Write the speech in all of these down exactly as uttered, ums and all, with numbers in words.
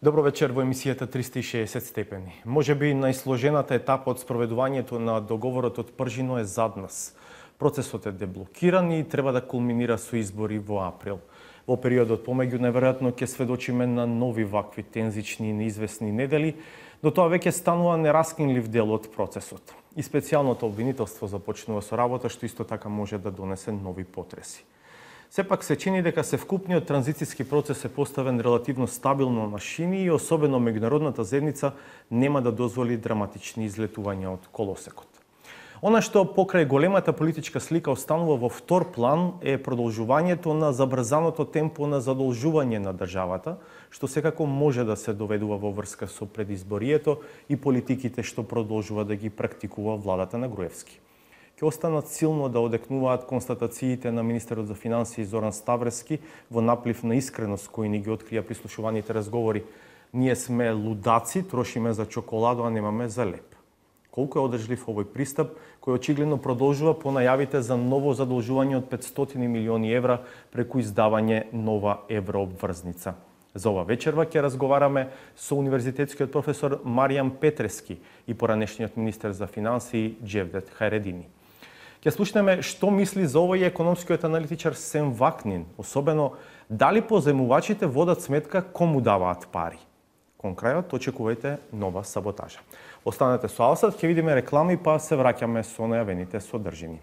Добро вечер во емисијата триста и шеесет степени. Може би најсложената етапа од спроведувањето на договорот од Пржино е зад нас. Процесот е деблокиран и треба да кулминира со избори во април. Во периодот помеѓу најверојатно ќе сведочиме на нови вакви тензични и неизвестни недели, но тоа веќе станува нераскинлив дел од процесот. И специјалното обвинителство започнува со работа, што исто така може да донесе нови потреси. Сепак се чини дека севкупниот транзицијски процес е поставен релативно стабилно на шини и особено меѓународната заедница нема да дозволи драматични излетувања од колосекот. Она што покрај големата политичка слика останува во втор план е продолжувањето на забрзаното темпо на задолжување на државата, што секако може да се доведува во врска со предизборието и политиките што продолжува да ги практикува владата на Груевски. Ќе останат силно да одекнуваат констатациите на министерот за финансии Зоран Ставрески во наплив на искреност кој ни ги открија прислушуваните разговори. Ние сме лудаци, трошиме за чоколадо, а немаме за леп. Колку е одржлив овој пристап, кој очигледно продолжува по најавите за ново задолжување од петстотини милиони евра преку издавање нова еврообврзница. За ова вечерва ќе разговараме со универзитетскиот професор Маријан Петрески и поранешниот министер за финансии Џевдет Хајредини. Ќе слушнеме што мисли за овој економскиот аналитичар Сем Вакнин, особено дали позајмувачите водат сметка кому даваат пари. Кон крајот очекувајте нова саботажа. Останете со Алсат, ќе видиме реклами, па се враќаме со најавените содржини.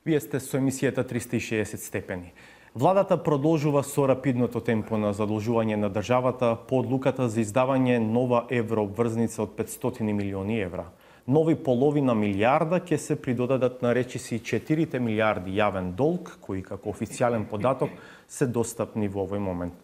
Вие сте со емисијата триста и шеесет степени. Владата продолжува со рапидното темпо на задолжување на државата по одлуката за издавање нова еврообврзница од петстотини милиони евра. Нови половина милијарда ќе се придодадат на речиси четирите милијарди јавен долг, кои како официјален податок се достапни во овој момент.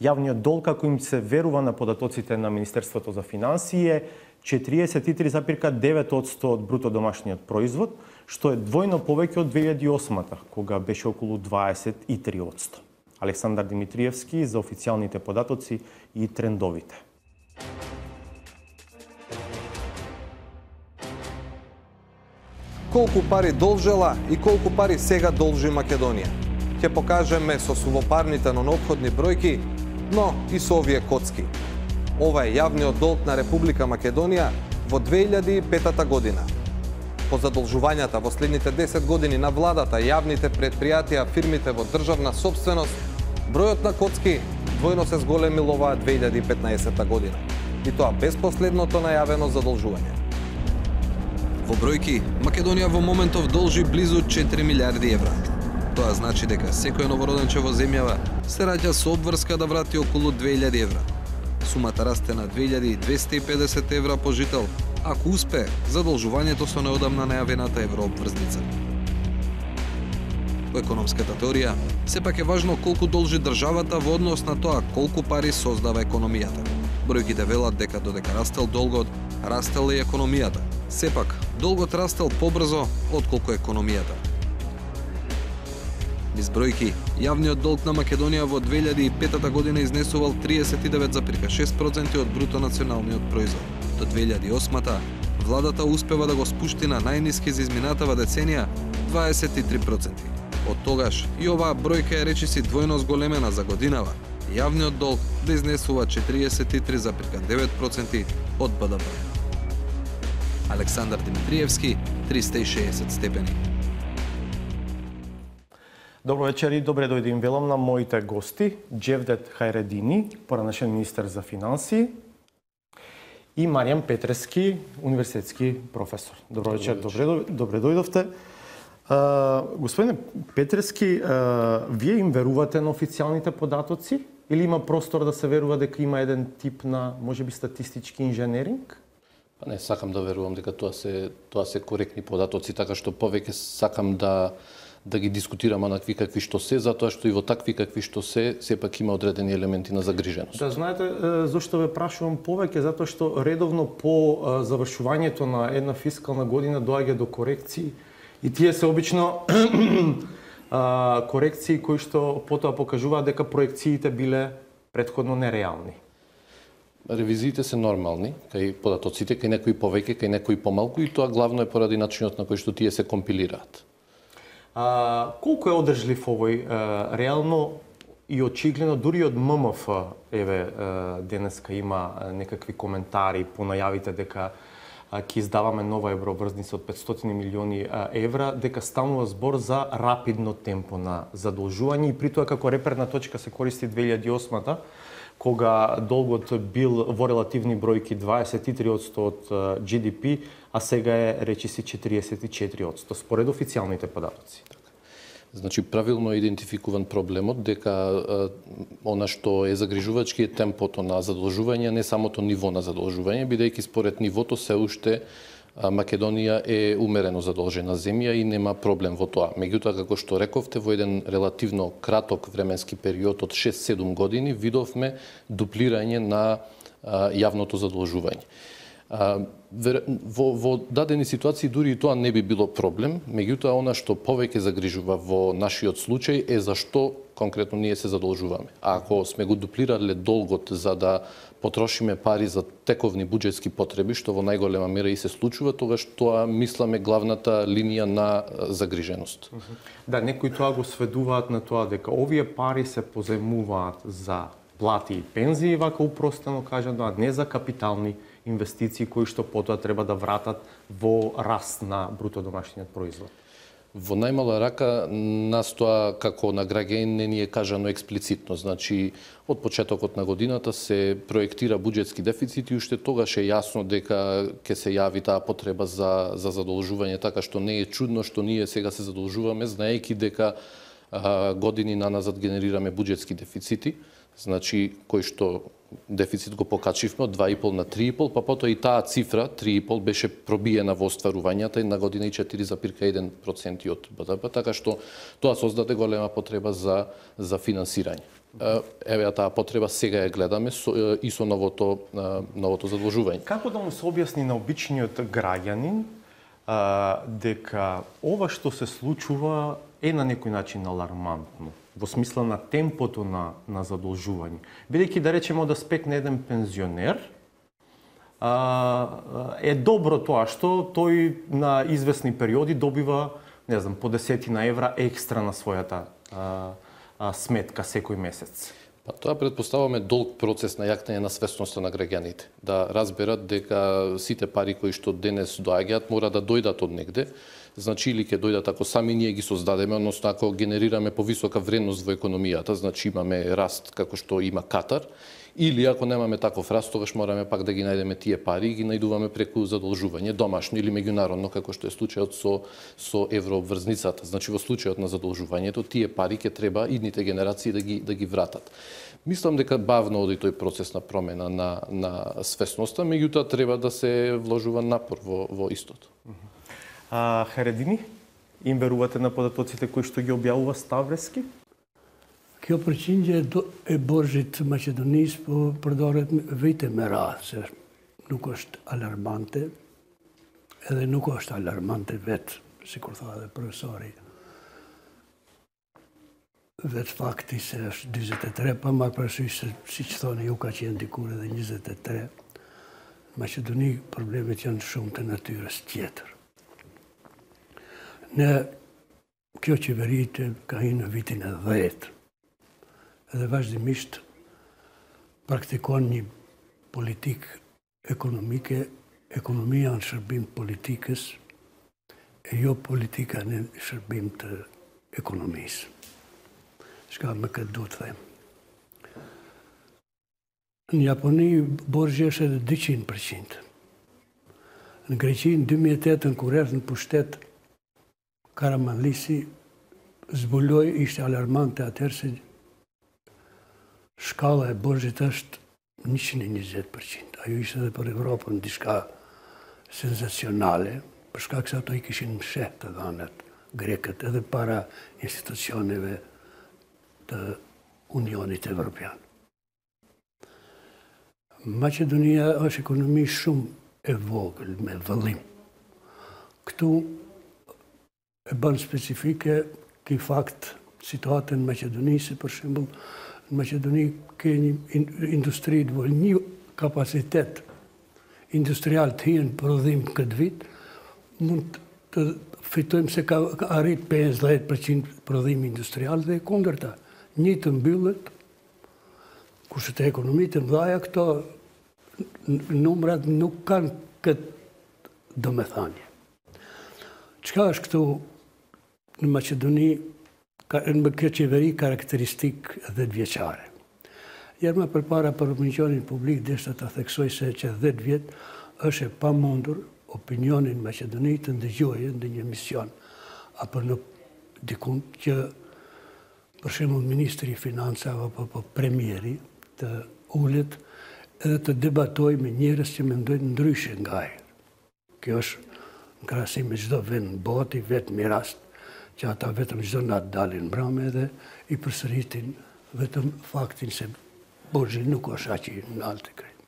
Јавниот долг, како им се верува на податоците на Министерството за финансии, е четириесет и три запирка девет одсто од бруто домашниот производ, што е двојно повеќе од две илјади и осмата, кога беше околу дваесет и три одсто. Александар Димитриевски за официјалните податоци и трендовите. Колку пари должела и колку пари сега должи Македонија? Ќе покажеме со сувопарните, но неопходни бројки, но и со овие коцки. Ова е јавниот долг на Република Македонија во две илјади и петата година. По задолжувањата во следните десет години на владата, јавните предпријатија, фирмите во државна собственост, бројот на коцки двојно се зголемил оваа две илјади и петнаесета година. И тоа без последното најавено задолжување. Во бројки, Македонија во моментов должи близу четири милијарди евра. Тоа значи дека секој новороденче во земјава се раѓа со обврска да врати околу две илјади евра. Сумата расте на две илјади двесте и педесет евра по жител, ако успе задолжувањето со неодамна најавената еврообврзница. Во економската теорија, сепак е важно колку должи државата во однос на тоа колку пари создава економијата. Бројките велат дека додека растел долгот, растел и економијата. Сепак, долгот растел побрзо отколку економијата. Низ бројки, јавниот долг на Македонија во две илјади и петата година изнесувал триесет и девет запирка шест проценти од бруто националниот производ. До две илјади и осмата, владата успева да го спушти на најниски за изминатава деценија дваесет и три проценти. Од тогаш и оваа бројка е речиси двојно зголемена за годинава. Јавниот долг да изнесува четириесет и три запирка девет проценти од Б Д П. Александар Димитриевски, триста и шеесет степени. Добро вечер и добре дојде им велам на моите гости, Џевдет Хајредини, поранешен министер за финансии, и Маријан Петрески, универзитетски професор. Добро вечер, добре, добре дојдовте. Uh, господине Петрески, uh, вие им верувате на официјалните податоци или има простор да се верува дека има еден тип на, можеби, статистички инженеринг? Па не, сакам да верувам дека тоа се тоа се коректни податоци, така што повеќе сакам да да ги дискутираме онакви какви што се, затоа што и во такви какви што се, сепак има одредени елементи на загриженост. Да, знаете зошто ве прашувам повеќе, затоа што редовно по завршувањето на една фискална година доаѓа до корекции и тие се обично корекции кои што потоа покажуваат дека проекциите биле претходно нереални. Ревизиите се нормални, кај податоците, кај некои повеќе, кај некои помалку, и тоа главно е поради начинот на кој што тие се компилираат. А, колку е одржлив овој а, реално и очигледно дури од М М Ф, еве денеска има некакви коментари по најавите дека ќе издаваме нова евроврзница од петстотини милиони евра, дека станува збор за рапидно темпо на задолжување, и при тоа како реперна точка се користи две илјади и осма, кога долгот бил во релативни бројки дваесет и три одсто од Джи Ди Пи, а сега е речиси четириесет и четири одсто, според официјалните податоци. Значи, правилно е идентификуван проблемот, дека а, она што е загрижувачки е темпото на задолжување, не самото ниво на задолжување, бидејќи според нивото се уште а, Македонија е умерено задолжена земја и нема проблем во тоа. Меѓутоа, како што рековте, во еден релативно краток временски период од шест-седум години видовме дуплирање на а, јавното задолжување. А, во, во дадени ситуации дури и тоа не би било проблем, меѓутоа она што повеќе загрижува во нашиот случај е зашто конкретно ние се задолжуваме. А ако сме го дуплирале долгот за да потрошиме пари за тековни буџетски потреби, што во најголема мера и се случува, тогаш тоа мисламе главната линија на загриженост. Да, некои тоа го сведуваат на тоа дека овие пари се позајмуваат за плати и пензии, вака упростено кажано, а не за капитални инвестиции кои што потоа треба да вратат во раст на бруто домашниот производ. Во најмала рака нас тоа како на граѓани не ни е кажано експлицитно. Значи, од почетокот на годината се проектира буџетски дефицит и уште тогаш е јасно дека ќе се јави таа потреба за, за задолжување, така што не е чудно што ние сега се задолжуваме, знаејќи дека а, години наназад генерираме буџетски дефицити, значи кој што дефицит го покачивме од два и пол на три и пол, па потоа и таа цифра, три и пол, беше пробиена во остварувањата и на година и четири запирка еден процент од Б Д П, така што тоа создаде голема потреба за, за финансирање. Еве таа потреба сега ја гледаме со, и со новото, новото задолжување. Како да му се објасни на обичниот граѓанин а, дека ова што се случува е на некој начин алармантно, во смисла на темпото на, на задолжување? Бидејќи, да речеме, да спекне еден пензионер, а, е добро тоа што тој на известни периоди добива, не знам, по десетина евра екстра на својата а, а, сметка секој месец. Па тоа предпоставаме долг процес на јакнење на свесноста на граѓаните, да разберат дека сите пари кои што денес доаѓаат мора да дојдат од негде. Значи, или ќе дојдат ако сами ние ги создадеме, односно ако генерираме повисока вредност во економијата, значи имаме раст како што има Катар, или ако немаме таков раст, тогаш мораме пак да ги најдеме тие пари и ги најдуваме преку задолжување, домашно или меѓународно, како што е случајот со, со еврообврзницата. Значи, во случајот на задолжувањето, тие пари ќе треба идните генерации да ги, да ги вратат. Мислам дека бавно оди тој процес на промена на, на свесноста, меѓутоа треба да се вложува напор во, во истото. А, Харедини, им верувате на податоците кои што ги објавува Ставрески? Kjo përqindje e borxhit maqedonisë po përdoret vite me radhë, se nuk është alarmante, edhe nuk është alarmante vetë, si kur tha dhe profesori. Vetë fakti se është njëzet e tre, pa marrë parasysh se, si që thoni ju, ka qenë dikur edhe njëzet e tre. Në Maqedoni problemet janë shumë të natyrës tjetër. Në kjo qeverit ka hinë në vitin e dhjetë, edhe vazhdimisht praktikon një politik ekonomike, ekonomia në shërbim politikës, e jo politika në shërbim të ekonomisë. Shka me këtë duhet të them. Në Japoni borxhi është edhe dyqind përqind. Në Greqi në dy mijë e tetë kur erdhi në pushtet Karamanlisi, zbuloi, ishte alarmante atëherë se shkalla e borxhit është njëqind e njëzet përqind. Ajo ishte edhe për Evropën diçka senzacionale, për shkak se ato i kishin msheh të dhënat grekët edhe para institucioneve të Unionit Evropian. Maqedonia është ekonomi shumë e vogël, me vëllim. Këtu e bën specifike ky fakt situatën në Maqedoni, se për shembull në Maqedoni ke një industri të vogël, një kapacitet industrial të hinë prodhim këtë vit, mund të fitojmë se ka arrit pesëdhjetë përqind prodhim industrial dhe kundërta. Një të mbyllet, kurse të ekonomitë mëdha këto numrat nuk kanë këtë domethënie. Çka është këtu në Maqedoni, në kjo qeveri karakteristik dhjetë vjeçare? Jerma përpara për opinionin publik deshta ta theksoj se që dhjetë vjet është e pamundur opinionin Maqedoni të ndëgjojë në një mision apo në dikun që për shembull ministri i financave apo po premieri të ulet edhe të debatojë me njerëz që mendojnë ndryshe nga ai. Kjo është në krahasim me çdo vend në botë, vetëm i rast që ata vetëm çdo natë dalin mbrëmë edhe i përsëritin vetëm faktin se borxhi nuk është aq i lartë krejt.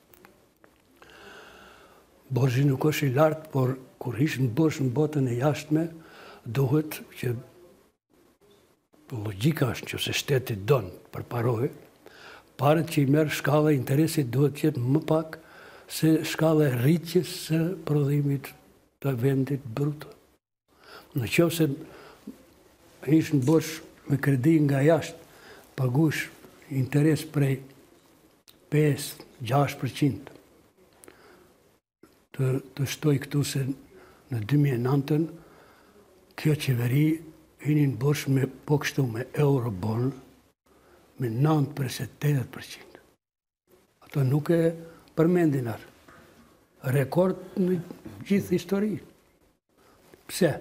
Borxhi nuk është i lartë, por kur ish në borxh në botën e jashtme, duhet që logjika është që se shteti don përparojë, paret që i merr shkalla e interesit duhet të jetë më pak se shkalla e rritjes së prodhimit të vendit bruto. Në qoftë se ish në borxh me kredi nga jashtë, pagush interes prej pesë gjashtë përqind. Të, të shtoj këtu se në dy mijë e nëntë kjo qeveri hinin borxh me po kështu me eurobond me nëntë përse tetëdhjetë përqind. Ato nuk e përmendin atë. Rekord në gjithë histori. Pse?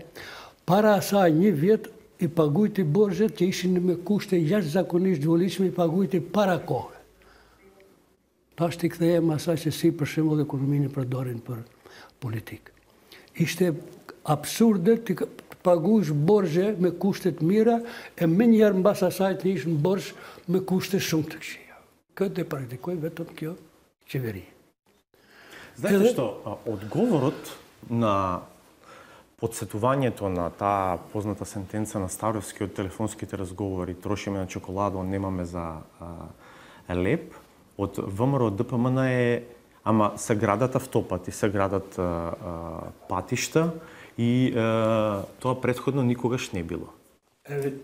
Para asaj një vjet i pagujti borxhet që ishin me kushte jashtëzakonisht zhvillishme, i pagujti para kohë. Tash t'i kthehem asaj se si për shembull ekonominë përdorin për politikë. Ishte absurde të paguash borxhe me kushte të mira e menjëherë mbas asaj të ish në borxh me kushte shumë të këqija. Këtë e praktikoi vetëm kjo qeveri. Знаете што, одговорот на подсетувањето на таа позната сентенца на Старовски од телефонските разговори "Трошиме на чоколадо, немаме за а, леп", од ВМРО Д П М Н е, ама се градат автопати, се градат а, а, патишта и а, тоа претходно никогаш не било. Еве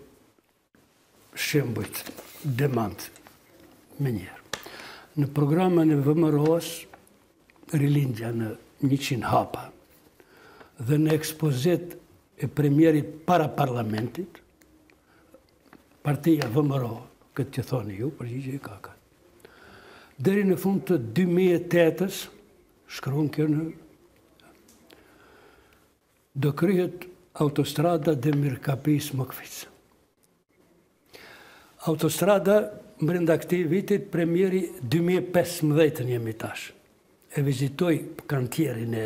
шембојт демант менjer. Në programën e V M R O-s rilindja në njëqind hapa dhe në ekspozit e premierit para parlamentit, partia V M R O, këtë që thoni ju, përgjigje e kaka. Deri në fund të dy mijë e tetës, shkruan kjo në, do kryhet autostrada dhe Mirkapis Mokfic. Autostrada, brenda këtij vitit, premieri dy mijë e pesëmbëdhjetë jemi tash. E vizitoj kantierin e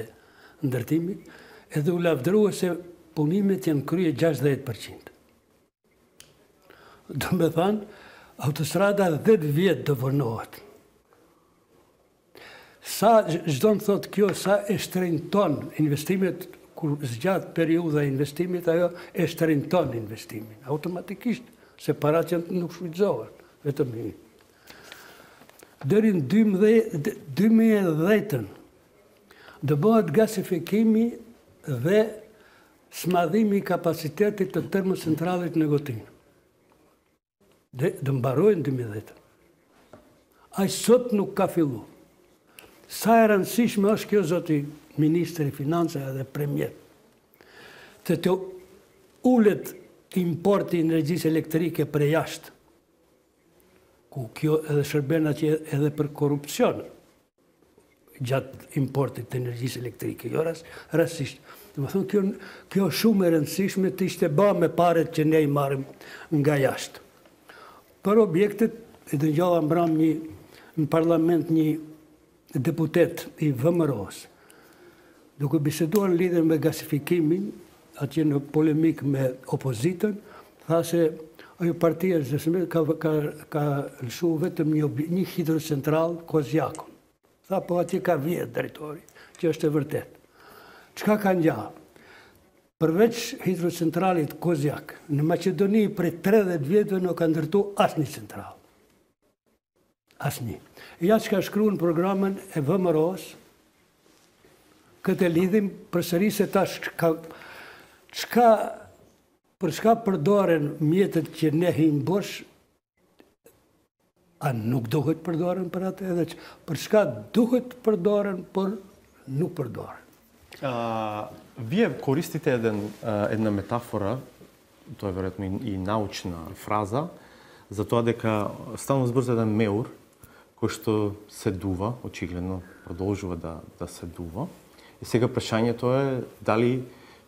ndërtimit, edhe u lavdërua se punimet janë krye gjashtëdhjetë përqind. Do me thanë, autostrada dhjetë vjetë do vonohet. Sa, çdo në thotë kjo, sa e shtrenjton investimet, kur zgjatë periudha investimit, ajo e shtrenjton investimin. Automatikisht, se parat janë nuk shfrytëzohen, vetëm një. Deri në dy mijë e dhjetë do bëhet gasifikimi dhe smadhimi i kapacitetit të termocentralit në Gotin. Do mbarojnë dy mijë e dhjetë. Ai sot nuk ka fillu. Sa e rëndësishme është kjo, zoti Ministri i Financave dhe Premier, të të ulet importi energjisë elektrike për jashtë, ku kjo edhe shërben atje edhe për korupcion gjatë importit të energjisë elektrike, jo rastisht. Dhe më thonë, kjo, kjo shumë e rëndësishme të ishte ba me paret që ne i marim nga jashtë. Për objektet, e të njëlla mbram një, në parlament një deputet i V M R O-s, duke biseduar në lidhje me gasifikimin, atje në polemik me opozitën, tha se ajo partia ka, ka, ka lëshu vetëm një, një hidrocentral Kozjakun. Tha, po atje ka vjetë drejtori, që është e vërtet. Çka ka ngjarë? Përveç hidrocentralit Kozjak, në Maqedoni për tridhjetë vjetëve nuk ka ndërtu asnjë central. Asnjë. Ja çka shkruan programin e V M R-s, këtë lidhim përsëri se tash ka çka për çka përdoren mjetet që ne him bosh, a nuk duhet përdoren për atë edhe që për çka duhet përdoren, por nuk përdoren. А, вие користите еден, една метафора, тоа е веројатно и, и научна фраза, за тоа дека стално збрза еден меур, кој што се дува, очигледно продолжува да, да се дува. И сега прашањето е дали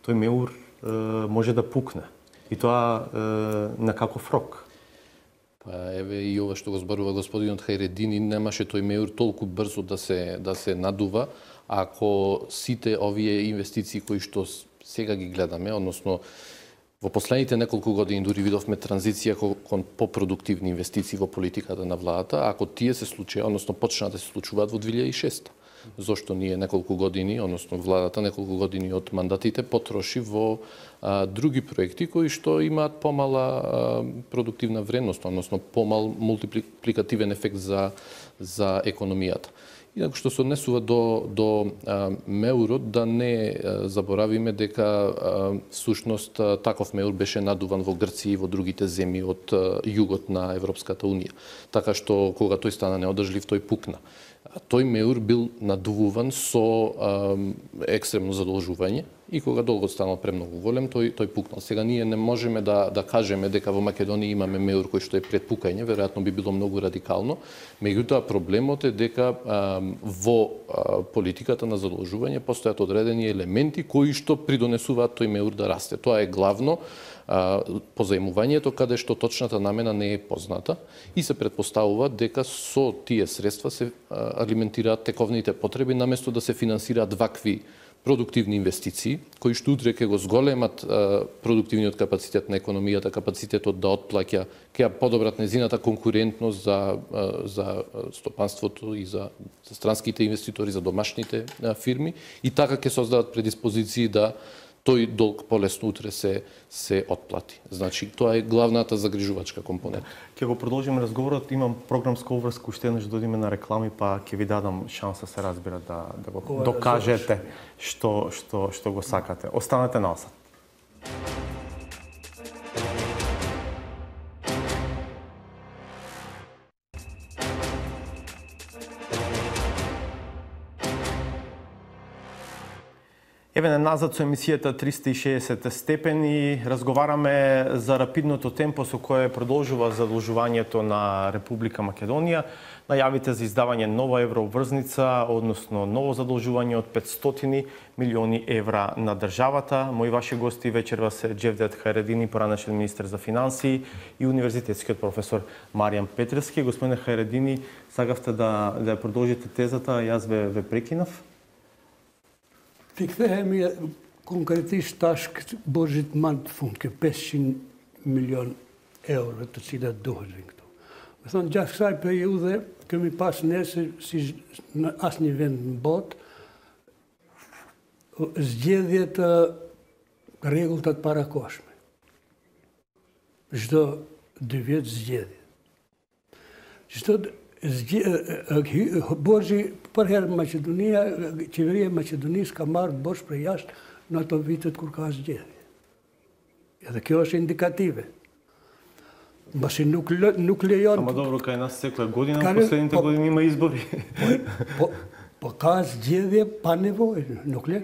тој меур е, може да пукне. И тоа е, на каков рок? Па еве и ова што го зборува господинот Хајредини, немаше тој меур толку брзо да се да се надува, ако сите овие инвестиции кои што сега ги гледаме, односно во последните неколку години дури видовме транзиција кон попродуктивни инвестиции во политиката на владата, ако тие се случаја, односно почнаа да се случуваат во две илјади и шеста. Зошто ние неколку години, односно владата неколку години од мандатите потроши во а, други проекти кои што имаат помала а, продуктивна вредност, односно помал мултипликативен ефект за за економијата. Инаку што се однесува до, до а, меурот, да не а, заборавиме дека а, всушност а, таков меур беше надуван во Грција и во другите земји од а, југот на Европската унија. Така што кога тој стана неодржлив, тој пукна. А тој меур бил надувуван со а, екстремно задолжување и кога долгот станал премногу голем, тој тој пукнал. Сега ние не можеме да да кажеме дека во Македонија имаме меур кој што е пред пукање, веројатно би било многу радикално. Меѓутоа проблемот е дека а, во а, политиката на задолжување постојат одредени елементи кои што придонесуваат тој меур да расте. Тоа е главно а, позајмувањето каде што точната намена не е позната и се претпоставува дека со тие средства се а, алиментираат тековните потреби наместо да се финансираат вакви продуктивни инвестиции, кои што утре ќе го зголемат а, продуктивниот капацитет на економијата, капацитетот да отплаќа, ќе подобрат незината конкурентност за, а, за стопанството и за, за странските инвеститори, за домашните а, фирми, и така ќе создадат предиспозиции да тој долг полесно утре се се отплати. Значи, тоа е главната загрижувачка компонента. Ќе го продолжиме разговорот, имам програмска обврска, уште еднаш додиме на реклами, па ќе ви дадам шанса, се разбира, да, да го Ова докажете што, што, што го сакате. Останете на осад. Еве назад со емисијата триста и шеесет степени, разговараме за рапидното темпо со кое продолжува задолжувањето на Република Македонија, најавите за издавање нова еврообврзница, односно ново задолжување од петстотини милиони евра на државата. Мои ваши гости вечерва се Джевдет Хајредини, поранешен министер за финансии, и универзитетскиот професор Маријан Петревски. Господине Хајредини, сакавте да да продолжите тезата, јас ве ве прекинав. Ti kthehemi konkretisht tash këtë borxhit më të fund, kë pesëqind milion euro të cilat duhen këtu. Me thonë, gjatë kësaj periudhe kemi pas ne se si në asnjë vend në botë zgjedhje të rregullta të parakohshme. Çdo dy vjet zgjedhje. Çdo borxhi për herë Maqedonia, qeveria e Maqedonisë ka marrë borxh për jashtë në ato vitet kur ka zgjedhje. Edhe kjo është indikative. Mbasi nuk nuk lejon. Ама добро, кај нас секоја година, во последните по, години има избори. Po, po ka zgjedhje pa nevojë, nuk le.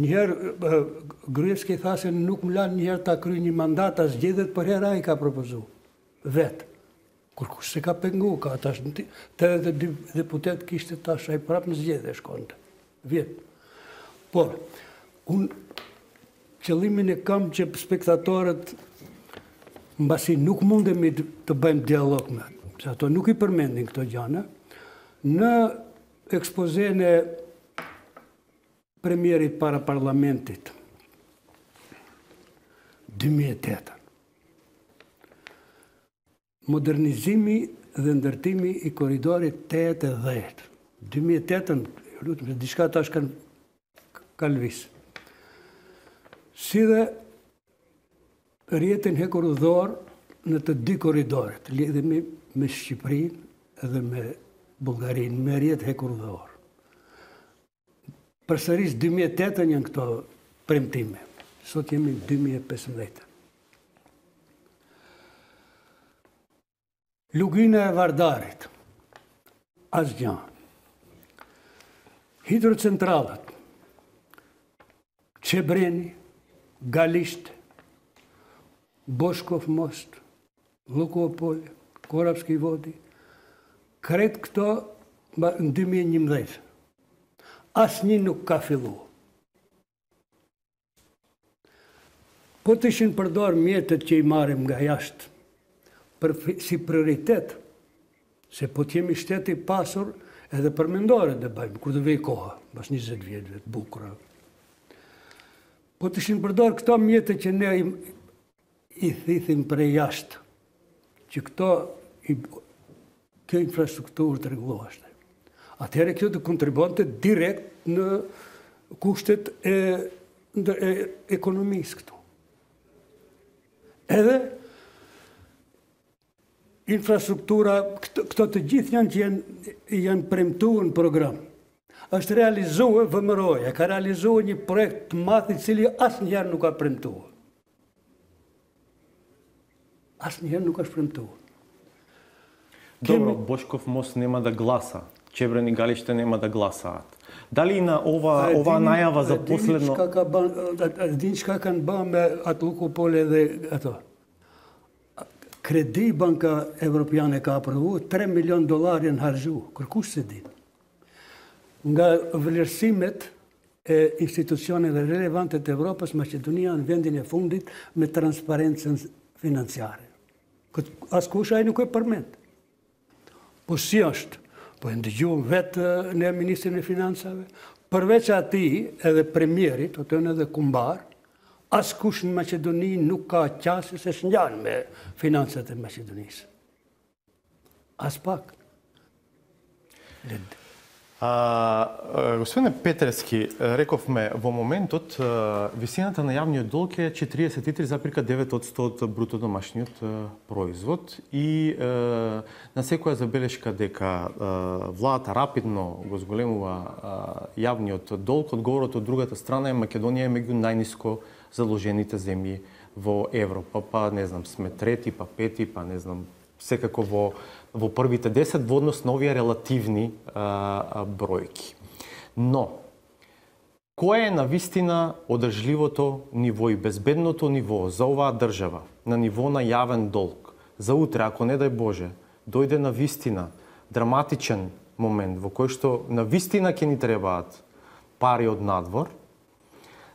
Njëherë Gruevski tha se nuk më lan njëherë ta kryej një mandat, as zgjedhjet për herë ai ka propozuar vet. Kur kush se ka pengu, ka tash tridhjetë e dy deputet kishte tash ai prapë në zgjedhje shkonte. Vjet. Por, unë qëllimin e kam që spektatorët mbasi nuk mundemi të bëjmë dialog me ato, se ato nuk i përmendin këto gjana, në ekspozen e premierit para parlamentit dy mijë e tetë. Modernizimi dhe ndërtimi i korridorit tetë e dhjetë. dy mijë e tetë, lutem, diçka tash kanë ka lëviz. Si dhe rrjetin hekurudhor në të dy korridoret, lidhemi me Shqipërinë edhe me Bullgarinë, me rjetë hekur dhe orë. Përsëris dy mijë e tetë janë këto premtime. Sot jemi dy mijë e pesëmbëdhjetë. Lugina e Vardarit, asgjë. Hidrocentralat, Çebreni, Galisht, Boškov most, Lukopolje, Korapski vodi, kretë këto në dy mijë e njëmbëdhjetë. Asnjë nuk ka filluar. Po të ishin përdor mjetet që i marrim nga jashtë, për, si prioritet, se po t'jemi shteti i pasur edhe përmendore dhe bëjmë, kur dhe vej koha, bas njëzet vjetëve të bukura. Po të ishin përdor këto mjetet që ne i, i thithim për e jashtë, që këto, i, kjo infrastrukturë të rregulloheshte. Atëherë kjo të kontribonte direkt në kushtet e, e ekonomisë këtu. Edhe infrastruktura, këto, këto të gjithë janë që janë, janë premtuar në program. Është realizuar V M R O-ja, ka realizuar një projekt të madh i cili asnjëherë nuk ka premtuar. Asnjëherë nuk është premtuar. Добро, Бошков мост нема да гласа. Чебрени Галиште нема да гласаат. Дали на ова ова најава за последно Дин çka kanë bën me atë Lukopolje dhe ato. Kredi Banka Evropiane ka aprovuar tre milion dollar janë harxhu, kërkush se din. Nga vlerësimet e institucioneve relevante të Evropës, Maqedonia në vendin e fundit me transparencën financiare. Askush ai nuk e përmend. Po si është? Po e ndëgjuam vetë ne Ministrin e Financave, përveç atij edhe premierit, o të në edhe kumbar, askush në Maqedoni nuk ka qasje se shngjan me financat e Maqedonisë. As pak. А, господине Петрески, рековме во моментот висината на јавниот долг е четириесет и три запирка девет одсто од бруто домашниот производ и е, на секоја забелешка дека е, владата рапидно го зголемува е, јавниот долг, одговорот од другата страна е Македонија е меѓу најниско заложените земји во Европа, па не знам, сме трети, па пети, па не знам, секако во во првите десет во однос на овие релативни а, а, бројки. Но, кое е навистина одржливото ниво и безбедното ниво за оваа држава, на ниво на јавен долг, за утре, ако не дај Боже, дојде навистина драматичен момент во кој што навистина ќе ни требаат пари од надвор,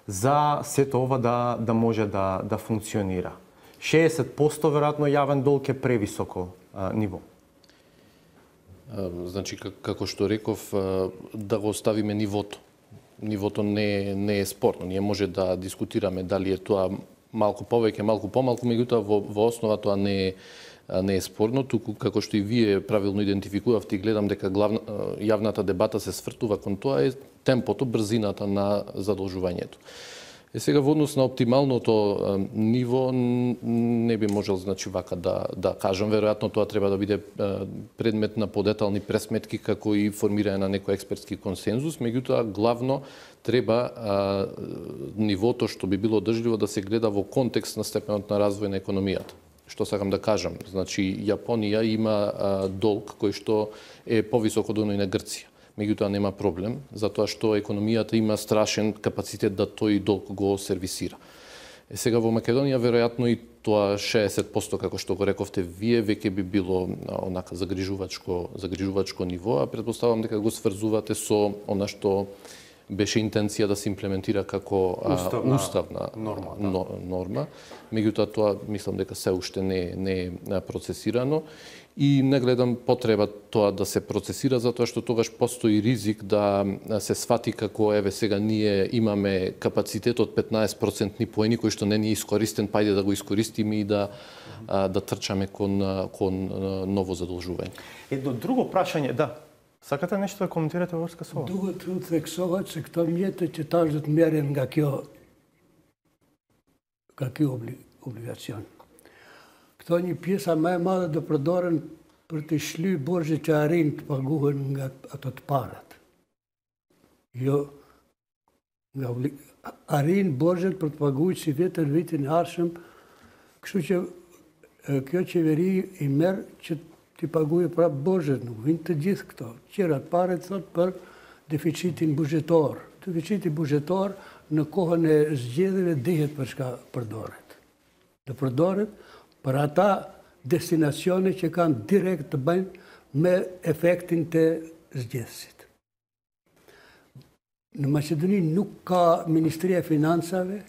за сето ова да, да може да, да функционира. шеесет проценти веројатно јавен долг е превисоко а, ниво. Значи, како што реков, да го оставиме нивото. Нивото не, не е спорно. Ние може да дискутираме дали е тоа малку повеќе, малку помалку, меѓутоа во, во основа тоа не е, не е спорно. Туку, како што и вие правилно идентификувавте, и гледам дека главна, јавната дебата се свртува кон тоа е темпото, брзината на задолжувањето. Е сега во однос на оптималното а, ниво не би можел значи вака да да кажам, веројатно тоа треба да биде а, предмет на подетални пресметки како и формирање на некој експертски консензус, меѓутоа главно треба а, нивото што би било одржливо да се гледа во контекст на степенот на развој на економијата. Што сакам да кажам, значи Јапонија има а, долг кој што е повисок од оној на Грција. Меѓутоа нема проблем, затоа што економијата има страшен капацитет да тој долг го сервисира. Е, сега во Македонија веројатно и тоа шеесет проценти како што го рековте вие веќе би било онака загрижувачко загрижувачко ниво, а претпоставувам дека го сврзувате со она што беше интенција да се имплементира како уставна, уставна норма, да. норма. Меѓутоа тоа мислам дека се уште не не е процесирано. И не гледам потреба тоа да се процесира, затоа што тогаш постои ризик да се свати како еве сега ние имаме капацитет од петнаесет проценти поени кој што не ни е искористен, па ајде да го искористиме и да да трчаме кон кон ново задолжување. Едно друго прашање, да. Сакате нешто да коментирате во врска со ова? Duhet të theksohet se këto mjete që tash do të merren nga kjo nga ky obligacion. Këto një pjesa më e madhe do përdoren притишли Божите арин пагуван от парат. Jo, arrin Bozhet për të paguajtur si vetën vitin e ardhshëm, kështu që kjo qeveri i merr që t'i paguajë prapë Bozhet, nuk vijnë të gjithë këto. Qerat pare thot për deficitin buxhetor. Deficiti buxhetor në kohën e zgjedhjeve dihet për çka përdoret. Do përdoret për ata destinacione që kanë direkt të bëjnë me efektin të zgjedhësit. Në Maqedoni nuk ka Ministria e Financave,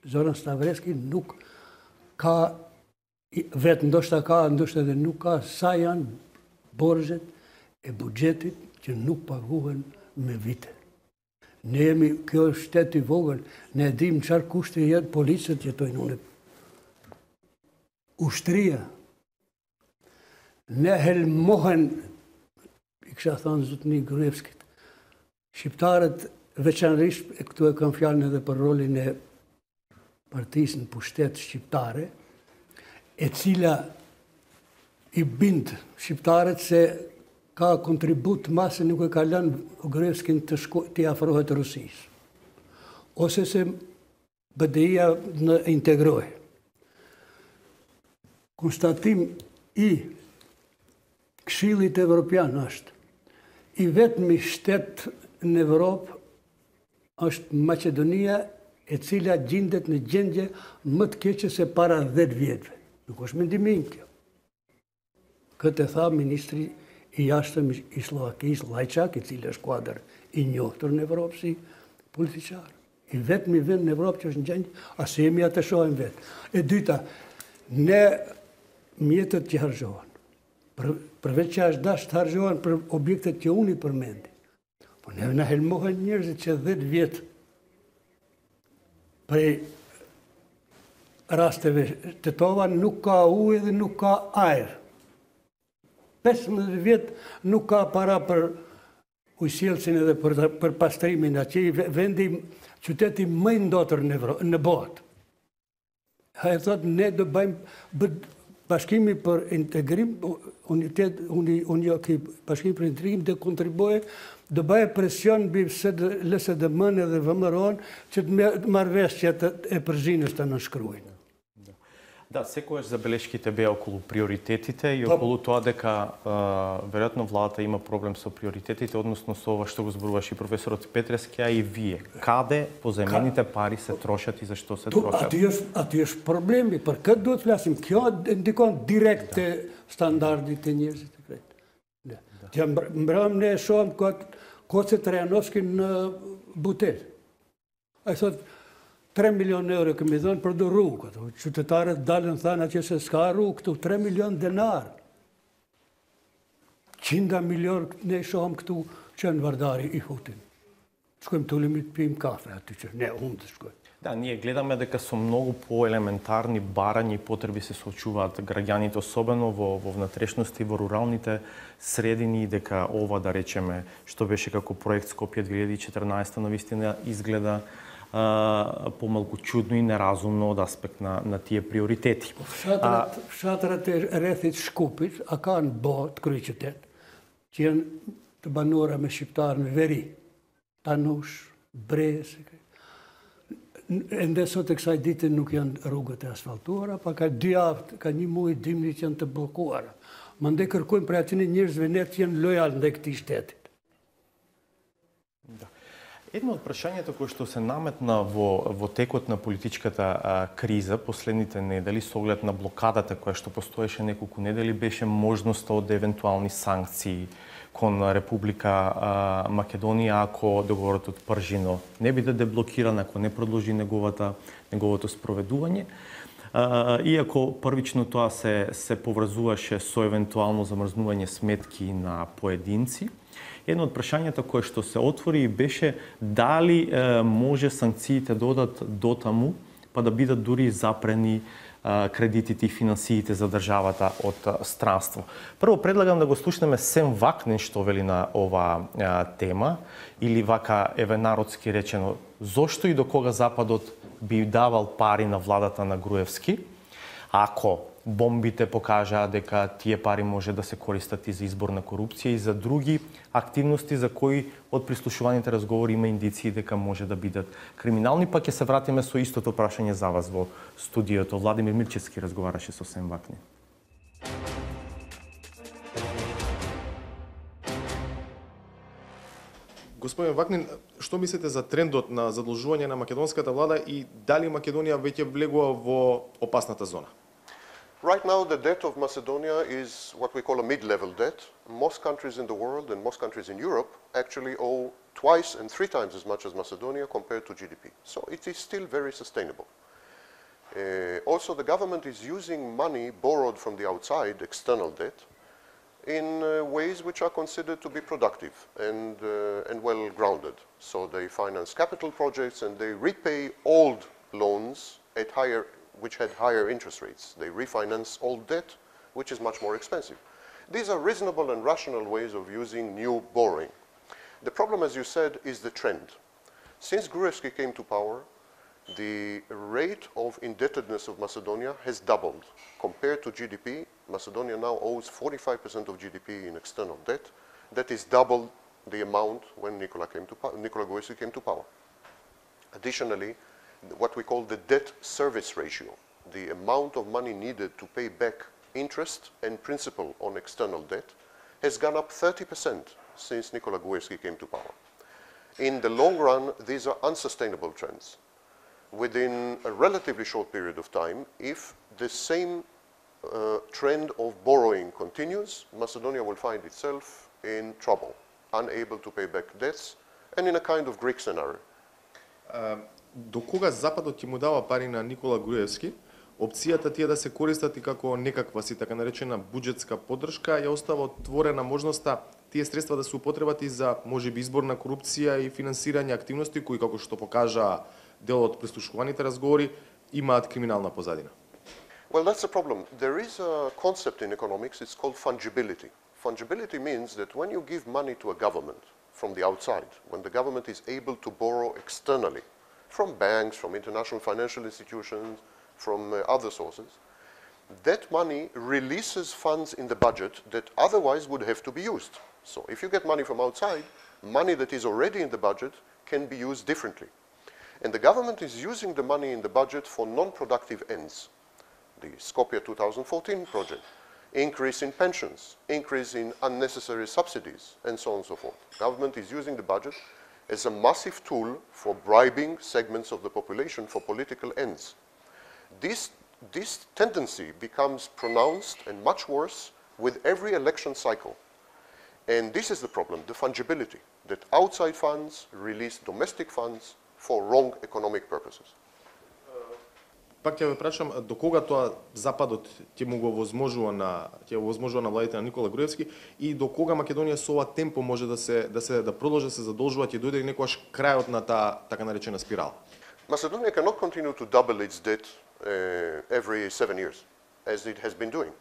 Zoran Stavreski nuk ka, vetë ndoshta ka, ndoshta edhe nuk ka, sa janë borxhet e buxhetit që nuk paguhen me vite. Ne jemi, kjo është shtet i vogël, ne e dim çfarë kushte jetë policët jetojnë unë. Ushtria. Ne helmohen, i kisha thënë zotni Gruevskit, shqiptarët veçanërisht, e këtu e kam fjalën edhe për rolin e partisë në pushtet shqiptare, e cila i bind shqiptarët se ka kontribut masë nuk e ka lënë Gruevskin të t'i afrohet Rusisë, ose se B D I-a në integrohe. Konstatim i Këshillit Evropian është i vetmi shtet në Evropë është Maqedonia, e cila gjendet në gjendje më të keqe se para dhjetë vjetëve. Nuk është mendimin kjo. Këtë e tha ministri i jashtëm i Slovakisë, Lajçak, i cili është kuadër i njohur në Evropë si politiçar. I vetmi vend në Evropë që është në gjendje, as jemi atë shohim vetë. E dyta, ne mjetët që harxhohen, përveç që është dashur të harxhohen për objektet që unë i përmendi. Po ne na helmohen njerëzit që dhjetë vjetë prej rasteve të tova nuk ka ujë dhe nuk ka ajër. pesëmbëdhjetë vjetë nuk ka para për ujësjellsin edhe për, për pastrimin, që i vendi, qyteti më i ndotër në, në botë. Ha e thotë, ne do bëjmë bashkimi për integrim, unitet, uni, uni, bashkimi për integrim dhe kontribuoje, do bëjë presion mbi L S D M-n dhe V M R-on që të marrëveshjet e Përzhinës të nënshkruajnë. Да, секогаш забелешките беа околу приоритетите и околу тоа дека веројатно владата има проблем со приоритетите, односно со ова што го зборуваше и професорот Петрески, а и вие. Каде позајмените пари се трошат и зашто се трошат? Aty është problemi, për këtë duhet flasim. Kjo ndikon direkt te standardit e njerëzit të krejt. Që mbrëm ne shohim Koce Trajanovskin në Butel. Ai thotë tre milion euro kemi dhënë për do rrugë. Qytetarët dalën thanë që se s'ka rrugë këtu, tre milion denar. Qinda milion ne shohëm këtu që në Vardari i hutin. Shkojmë të ulemi të pijmë kafe aty që ne unë të shkojmë. Да, ние гледаме дека со многу поелементарни барања и потреби се соочуваат граѓаните, особено во, во внатрешности, во руралните средини, дека ова, да речеме, што беше како проект Скопје две илјади и четрнаесета, навистина изгледа помалку чудно и неразумно од аспект на, на тие приоритети. Fshatrat e rrethit Shkupit, a kanë bo të kryqytet, që janë të banuara me shqiptarë në veri, Tanush, Bres, ende sot e kësaj dite nuk janë rrugët e asfaltuara, pa ka dy javë, ka një muaj dimri që janë të bllokuara. Mandej kërkojmë për atyre njerëzve ne që janë lojal ndaj këtij shteti. Едно од прашањето кој што се наметна во, во текот на политичката а, криза последните недели со оглед на блокадата која што постоеше неколку недели беше можноста од евентуални санкции кон Република а, Македонија ако договорот од Пржино не биде деблокиран, ако не продолжи неговата, неговото спроведување. А, иако првично тоа се, се поврзуваше со евентуално замрзнување сметки на поединци, едно од прашањата кое што се отвори беше дали е, може санкциите да одат дотаму, па да бидат дури запрени е, кредитите и финансиите за државата од е, странство. Прво предлагам да го слушнеме Сем Вакнин што вели на ова е, тема, или вака еве народски речено, зошто и до кога Западот би давал пари на владата на Груевски, ако бомбите покажаа дека тие пари може да се користат и за избор на корупција и за други активности за кои од прислушуваните разговори има индиции дека може да бидат криминални, па ќе се вратиме со истото прашање за вас во студиото. Владимир Мирчевски разговараше со Сем Вакнин. Господин Вакнин, што мислите за трендот на задолжување на македонската влада и дали Македонија веќе влегува во опасната зона? Right now, the debt of Macedonia is what we call a mid-level debt. Most countries in the world and most countries in Europe actually owe twice and three times as much as Macedonia compared to G D P. So it is still very sustainable. Uh, also, the government is using money borrowed from the outside, external debt, in uh, ways which are considered to be productive and, uh, and well-grounded. So they finance capital projects and they repay old loans at higher, which had higher interest rates. They refinance old debt, which is much more expensive. These are reasonable and rational ways of using new borrowing. The problem, as you said, is the trend. Since Gruevski came to power, the rate of indebtedness of Macedonia has doubled. Compared to G D P, Macedonia now owes forty-five percent of G D P in external debt. That is double the amount when Nikola, came to Nikola Gruevski came to power. Additionally, what we call the debt service ratio, the amount of money needed to pay back interest and principal on external debt, has gone up thirty percent since Nikola Gruevski came to power. In the long run, these are unsustainable trends. Within a relatively short period of time, if the same uh, trend of borrowing continues, Macedonia will find itself in trouble, unable to pay back debts, and in a kind of Greek scenario. Uh, до кога Западот ќе му дава пари на Никола Груевски, опцијата тие да се користат и како некаква си така наречена буџетска поддршка ја остава отворена можноста тие средства да се употребат и за можеби избор на корупција и финансирање активности кои, како што покажа дел од прислушуваните разговори, имаат криминална позадина. Well, that's the problem. There is a concept in economics, it's called fungibility. Fungibility means that when you give money to a government from the outside, when the government is able to borrow externally, from banks, from international financial institutions, from uh, other sources, that money releases funds in the budget that otherwise would have to be used. So if you get money from outside, money that is already in the budget can be used differently. And the government is using the money in the budget for non-productive ends. The Skopje two thousand fourteen project, increase in pensions, increase in unnecessary subsidies, and so on and so forth. Government is using the budget as a massive tool for bribing segments of the population for political ends. This, this tendency becomes pronounced and much worse with every election cycle. And this is the problem, the fungibility, that outside funds release domestic funds for wrong economic purposes. Пак ќе ве прашам, до кога тоа Западот ќе му го возможува на ќе го возможува на владите на Никола Груевски и до кога Македонија со ова темпо може да се да се да продолжи да се задолжува, ќе дојде некогаш крајот на таа така наречена спирала? Macedonia cannot continue to double its debt uh, every seven years, as it has been doing.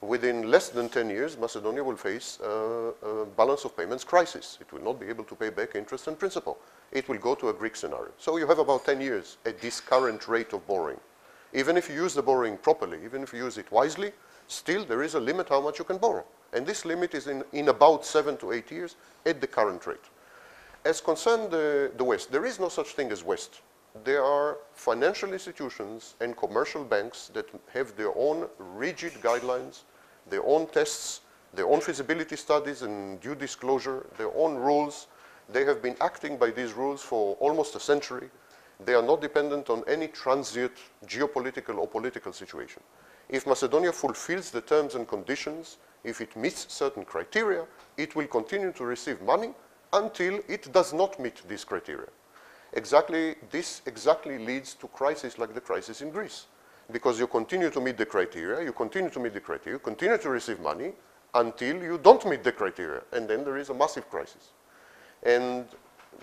Within less than ten years, Macedonia will face a, a balance of payments crisis. It will not be able to pay back interest and principal. It will go to a Greek scenario. So you have about ten years at this current rate of borrowing. Even if you use the borrowing properly, even if you use it wisely, still there is a limit how much you can borrow. And this limit is in, in about seven to eight years at the current rate. As concerned the, the West, there is no such thing as West. There are financial institutions and commercial banks that have their own rigid guidelines, their own tests, their own feasibility studies and due disclosure, their own rules. They have been acting by these rules for almost a century. They are not dependent on any transient geopolitical or political situation. If Macedonia fulfills the terms and conditions, if it meets certain criteria, it will continue to receive money until it does not meet these criteria. Exactly, this exactly leads to crises like the crisis in Greece. Because you continue to meet the criteria, you continue to meet the criteria, you continue to receive money until you don't meet the criteria, and then there is a massive crisis. And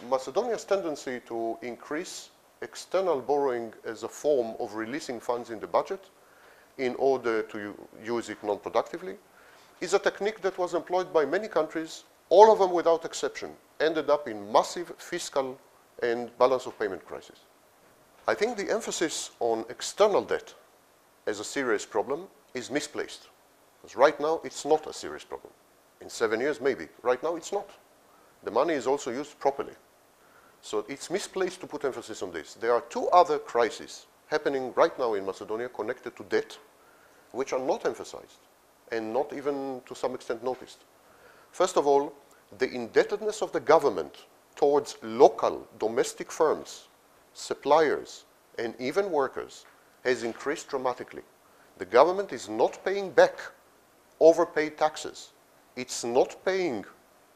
Macedonia's tendency to increase external borrowing as a form of releasing funds in the budget in order to use it non-productively is a technique that was employed by many countries, all of them without exception, ended up in massive fiscal and balance of payment crisis. I think the emphasis on external debt as a serious problem is misplaced. Because right now, it's not a serious problem. In seven years, maybe. Right now, it's not. The money is also used properly. So it's misplaced to put emphasis on this. There are two other crises happening right now in Macedonia connected to debt, which are not emphasized and not even to some extent noticed. First of all, the indebtedness of the government towards local domestic firms, suppliers, and even workers has increased dramatically. The government is not paying back overpaid taxes. It's not paying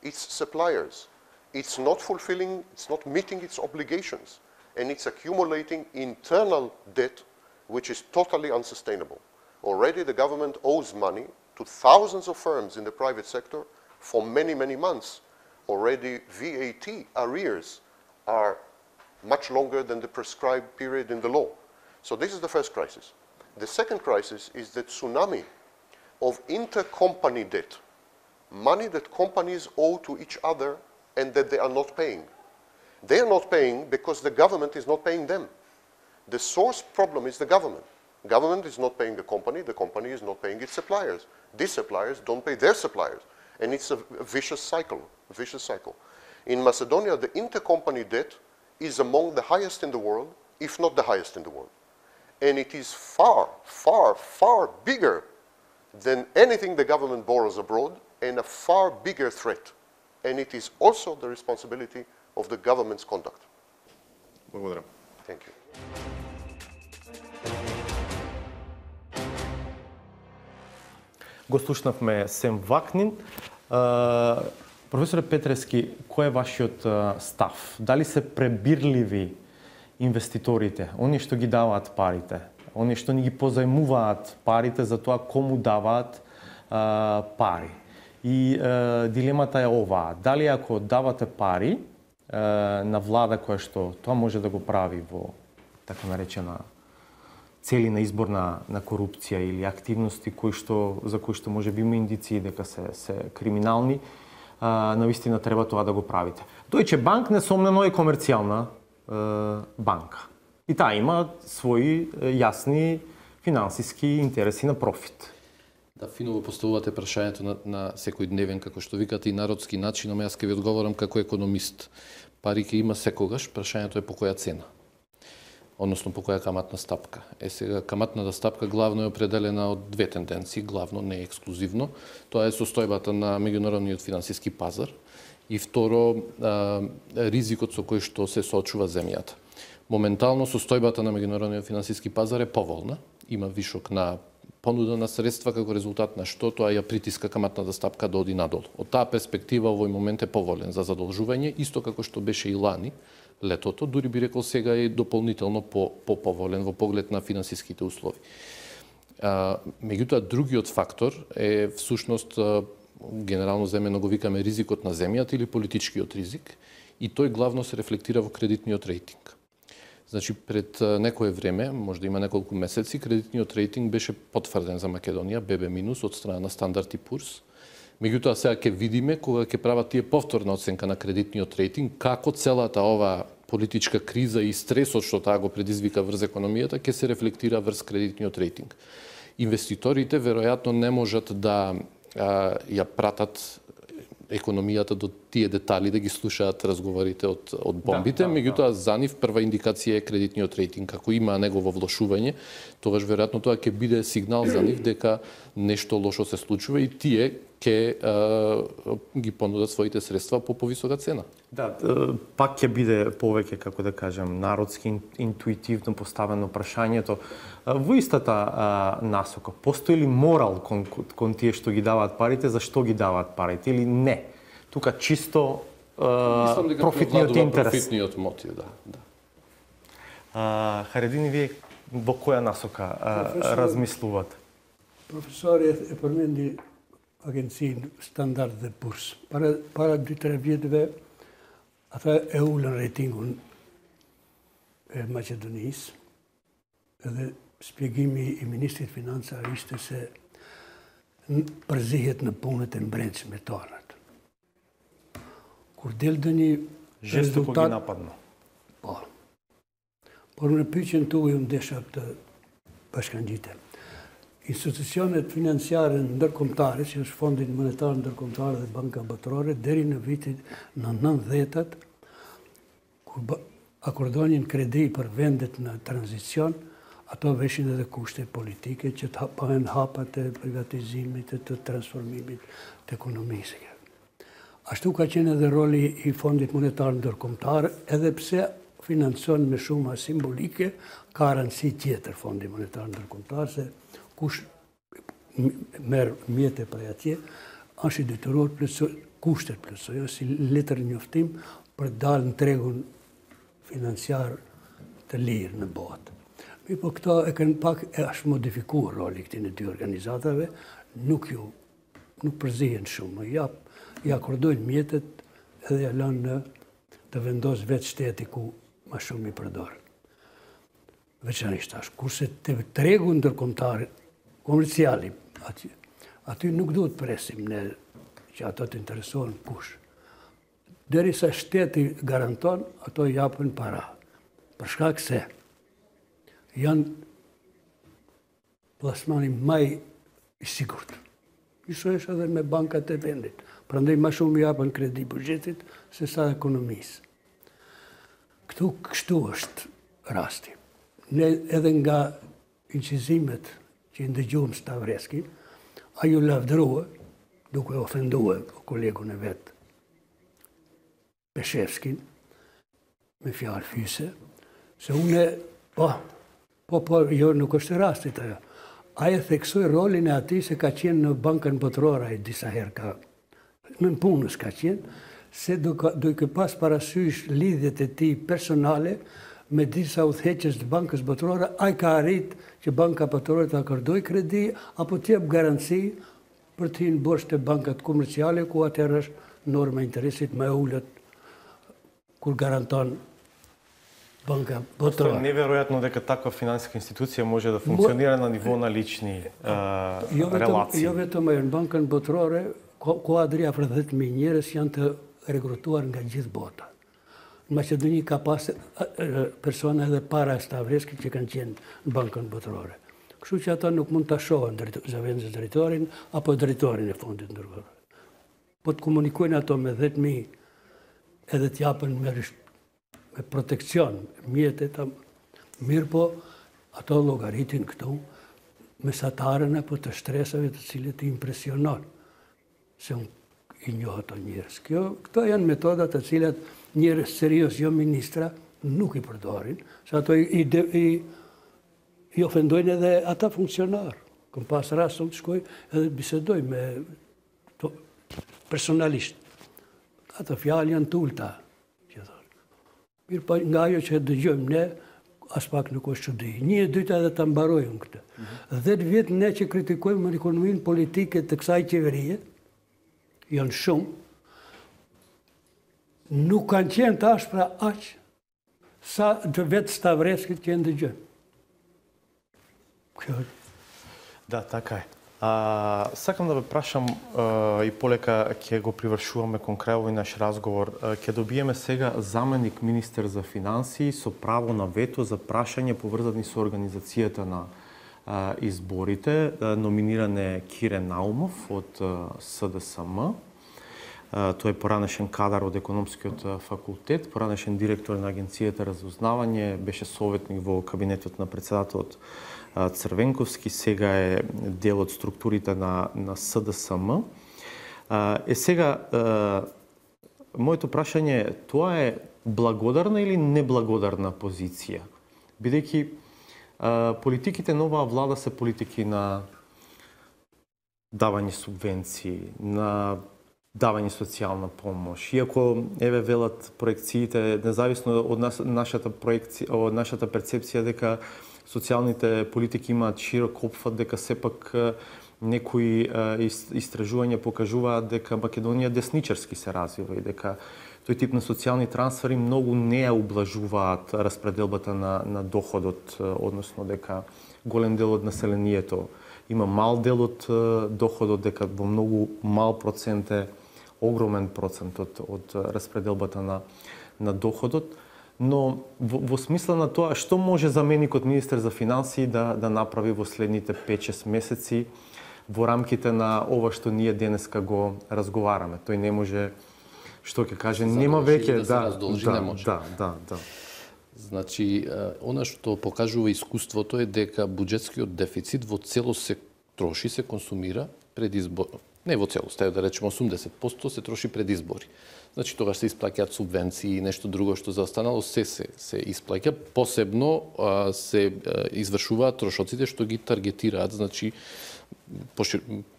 its suppliers. It's not fulfilling, it's not meeting its obligations. And it's accumulating internal debt, which is totally unsustainable. Already the government owes money to thousands of firms in the private sector for many, many months. Already V A T arrears are much longer than the prescribed period in the law. So this is the first crisis. The second crisis is the tsunami of intercompany debt, money that companies owe to each other and that they are not paying. They are not paying because the government is not paying them. The source problem is the government. Government is not paying the company, the company is not paying its suppliers. These suppliers don't pay their suppliers. And it's a, a vicious cycle, a vicious cycle. In Macedonia, the intercompany debt is among the highest in the world, if not the highest in the world. And it is far, far, far bigger than anything the government borrows abroad and a far bigger threat. And it is also the responsibility of the government's conduct. Благодарам. Thank you. Го слушнавме Сем Вакнин. Професоре Петрески, кој е вашиот став? Дали се пребирливи инвеститорите, они што ги даваат парите, они што ни ги позајмуваат парите за тоа кому даваат а, пари? И а, дилемата е оваа. Дали ако давате пари а, на влада која што тоа може да го прави во така наречена цели на избор на, на корупција или активности кои што, за кои што може би има индиции дека се, се криминални, а, навистина треба тоа да го правите. Deutsche Bank несомнено е комерцијална е, банка. И таа има своји е, јасни финансиски интереси на профит. Да, финово поставувате прашањето на, на секојдневен, како што викате, и народски начин, ама јас ќе ви одговорам како економист. Пари ќе има секогаш, прашањето е по која цена, односно по која каматна стапка. Е сега, каматната стапка главно е определена од две тенденции, главно, не ексклузивно. Тоа е состојбата на меѓународниот финансиски пазар и второ, а, ризикот со кој што се соочува земјата. Моментално состојбата на меѓународниот финансиски пазар е поволна, има вишок на понуда на средства како резултат на што тоа ја притиска каматната стапка да оди надолу. Од таа перспектива овој момент е поволен за задолжување, исто како што беше и лани, летото, дури би рекол сега е дополнително по, по-поволен во поглед на финансиските услови. А, меѓутоа, другиот фактор е всушност, генерално земено го викаме ризикот на земјата или политичкиот ризик, и тој главно се рефлектира во кредитниот рейтинг. Значи, пред некое време, може да има неколку месеци, кредитниот рейтинг беше потврден за Македонија, Б Б минус, од страна на Стандард и Пурс. Меѓутоа, сега ќе видиме, кога ќе прават тие повторна оценка на кредитниот рейтинг, како целата ова политичка криза и стресот што таа го предизвика врз економијата, ќе се рефлектира врз кредитниот рейтинг. Инвеститорите, веројатно, не можат да а, ја пратат економијата до тие детали, да ги слушаат разговорите од, од бомбите, да, да, меѓутоа, да. За нив прва индикација е кредитниот рейтинг. Ако има негово влошување, тогаш веројатно тоа ќе биде сигнал за нив дека нешто лошо се случува и тие ќе ги понудат своите средства по повисока цена. Да, пак ќе биде повеќе, како да кажем, народски, интуитивно поставено прашањето. Во истата а, насока, постои ли морал кон, кон тие што ги даваат парите, зашто ги даваат парите или не? Тука чисто а, профитниот интерес. Профитниот мотив, да. да. А, Харедини, вие во која насока а, размислувате? Професорот е промени агенцији Стандард и Пурс. Пара, пара две видове, а тоа е улен рейтингун е Македонијс. Edhe spjegimi i Ministrit Financa ishte se përzihet në punët e mbrendshme tonat. Kur del dhe një Жестоко резулtat... ги нападно. Po. Por në pyqen tu ju ndesha të bashkangjite. Институционet financiare ndërkombëtare, si është Fondi Monetar Ndërkombëtar dhe Banka Botërore, deri në vitin në nëntëdhjetat, kur akordonin kredi për vendet në tranzicion, ato veshin edhe kushte politike që të bëhen hapat e privatizimit e të transformimit të ekonomisë. Ashtu ka qenë edhe roli i Fondit Monetar Ndërkombëtar, edhe pse financon me shuma simbolike, ka rëndësi tjetër Fondi Monetar Ndërkombëtar, se kush merë mjetë për atje, është i detyruar plotësoj kushtet plotësoj, si letër njoftim për dalë në tregun financiar të lirë në botë. Mi po këto e kanë pak e është modifikuar roli këtij në dy organizatave, nuk ju nuk përzihen shumë, ja ja akordojnë mjetet edhe ja lënë në të vendos vetë shteti ku më shumë i përdor. Veçanërisht tash, kurse të tregu ndërkombëtar komerciali, aty, aty nuk duhet presim ne që ato të interesohen kush. Derisa shteti garanton, ato japën para. Për shkak se janë plasmani më i sigurt. Njësoj edhe me bankat e vendit. Prandaj më shumë japën kredi buxhetit se sa ekonomisë. Këtu kështu është rasti. Ne edhe nga incizimet që i ndëgjuam Stavreskin, ajo lavdërua, duke ofendua kolegun e vetë, Peshevskin, me fjalë fyse, se une, po, po, po, jo, nuk është rastit ajo. Aja theksoi rolin e ati se ka qenë në Bankën Botërore, ai disa herë ka, në punës ka qenë, se duke pas parasysh lidhjet e tij personale me disa udhëheqës të Bankës Botërore, ai ka arrit që Banka Botërore të akordoj kredi apo të jep garanci për të hyrë bosh të bankat komerciale, ku atëherë është norma interesit më e ulët kur garanton Банка Бotërore. Е неверојатно дека таква финансиска институција може да функционира на ниво на лични релации. Jo vetëm ajo, në Bankën Botërore, kuadri afër dhjetë mijë njerëz janë të rekrutuar nga gjithë bota. Në Maqedoni ka pas persona edhe para Stavreskit që kanë qenë në Bankën Botërore. Kështu që ata nuk mund ta shohin zëvendës drejtorin apo drejtorin e fondit ndërkombëtar. Po të komunikojnë ato me dhjetë mijë edhe të japën me me protekcion, mjetet, mirë po, ato llogaritin këtu, mesatarën apo të shtresave të cilët i impresionon, se unë i njoh ato njerëz. Kjo, këto janë metoda të cilat njerëz serios, jo ministra, nuk i përdorin, se ato i, i, i ofendojnë edhe ata funksionar. Këm pas rast të shkoj edhe bisedoj me to, personalisht. Ato fjalë janë tulta. Mirë pa nga ajo që dëgjojmë ne, as pak nuk është çudi. Një e dyta edhe ta mbarojmë këtë. dhjetë vjet ne që kritikojmë ekonominë politike të kësaj qeverie, janë shumë, nuk kanë qenë të ashpra aq sa të vetë Stavreskit që e ndëgjojmë. Kjo Да, така е. А, сакам да ве прашам а, и полека ќе го привршуваме кон крај овој наш разговор. А, ќе добиеме сега заменик министер за финансии со право на вето за прашање поврзани со организацијата на а, изборите. А, номиниран е Кирен Наумов од а, С Д С М. А, тој е поранешен кадар од економскиот факултет, поранешен директор на агенцијата разузнавање, беше советник во кабинетот на председателот Црвенковски, сега е дел од структурите на, на С Д С М. Е сега, моето прашање е, тоа е благодарна или неблагодарна позиција? Бидејќи политиките на оваа влада се политики на давање субвенции, на давање социјална помош. Иако, еве, велат проекциите, независно од нас, нашата, проекција, од нашата перцепција дека социјалните политики имаат широк опфат, дека сепак некои истражувања покажуваат дека Македонија десничарски се развива и дека тој тип на социјални трансфери многу не ја ублажуваат распределбата на, на доходот, односно дека голем дел од населението има мал дел од доходот, дека во многу мал процент е огромен процент од, од распределбата на, на доходот. Но во, во смисла на тоа, што може заменикот министер за финансии да, да направи во следните пет-шест месеци во рамките на ова што ние денеска го разговараме? Тој не може, што ќе каже, нема веќе, да, да, да, да, не може. да, да, да. Значи, она што покажува искуството е дека буџетскиот дефицит во целост се троши, се консумира пред избор. Не во целост, да речеме осумдесет проценти се троши пред избори. Значи тогаш се исплаќаат субвенции и нешто друго што за останало се се се исплаќа, посебно а, се а, извршуваат трошоците што ги таргетираат, значи